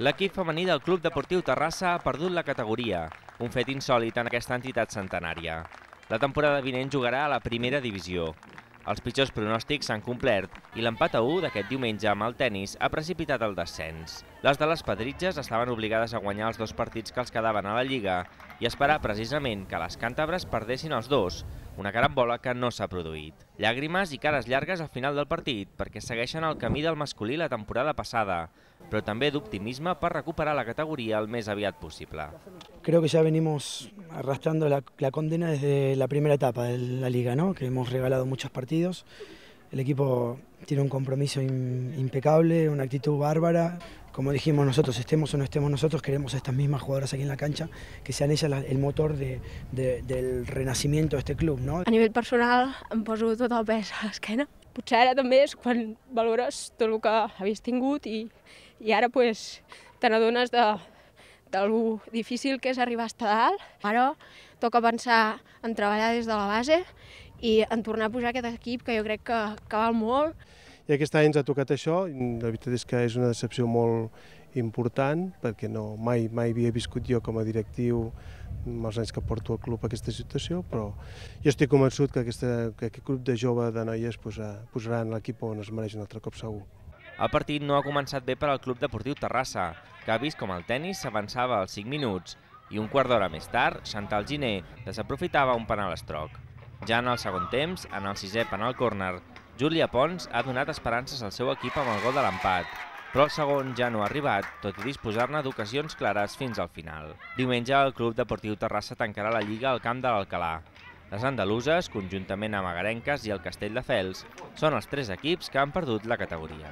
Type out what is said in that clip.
L'equip femení del Club Deportiu Terrassa ha perdut la categoria, un fet insòlit en aquesta entitat centenària. La temporada vinent jugarà a la primera divisió. Els pitjors pronòstics s'han complert i l'empat a 1 d'aquest diumenge amb el tennis ha precipitat el descens. Les de les Pedritges estaven obligades a guanyar els 2 partits que els quedaven a la Lliga i esperar precisament que les càntabres perdessin els 2, una carambola que no s'ha produït. Llàgrimes i cares llargues al final del partit perquè segueixen el camí del masculí la temporada passada, però també d'optimisme per recuperar la categoría el més aviat possible. Creo que ya venimos arrastrando la condena desde la primera etapa de la liga, ¿no? Que hemos regalado muchos partidos. El equipo tiene un compromiso impecable, una actitud bárbara. Como dijimos nosotros, estemos o no estemos nosotros, queremos a estas mismas jugadoras aquí en la cancha, que sean ellas el motor del renacimiento de este club, ¿no? A nivell personal em poso tot el pes a l'esquena. Potser ara també és quan valores tot el que havies tingut i ara pues, te n'adones de lo difícil que és arribar a estar dalt. Ara toca pensar en treballar des de la base i en tornar a pujar aquest equip que jo crec que val molt. I aquest any ens ha tocat això, la veritat és que és una decepció molt important perquè mai havia viscut jo com a directiu amb els anys que porto al club aquesta situació, però jo estic convençut que aquest grup de joves de noies posaran l'equip on es mereix un altre cop segur. El partit no ha començat bé per al Club Deportiu Terrassa, que ha vist com el tennis s'avançava als 5 minuts i un quart d'hora més tard, Chantal Giner desaprofitava un penal estroc. Ja en el segon temps, en el 6è penal córner, Júlia Pons ha donat esperances al seu equip amb el gol de l'empat, però el segon ja no ha arribat, tot i disposar-ne d'ocasions clares fins al final. Diumenge, el Club Deportiu Terrassa tancarà la Lliga al camp de l'Alcalà. Les andaluses, conjuntament amb Agarenques i el Castelldefels, són els 3 equips que han perdut la categoria.